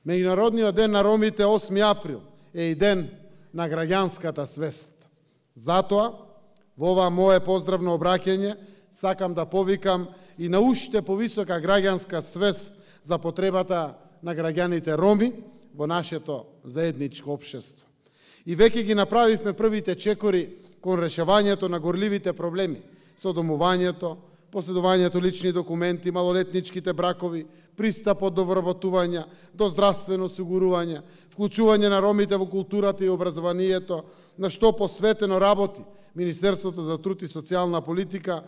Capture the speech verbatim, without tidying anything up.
Меѓународниот ден на ромите осми април е и ден на граѓанската свест. Затоа, во ова мое поздравно обраќање, сакам да повикам и на уште повисока граѓанска свест за потребата на граѓаните роми во нашето заедничко општество. И веќе ги направивме првите чекори кон решавањето на горливите проблеми со домувањето, поседувањето лични документи, малолетничките бракови, пристапот до вработување, до здравствено осигурување, вклучување на ромите во културата и образованието, на што посветено работи Министерството за труд и социјална политика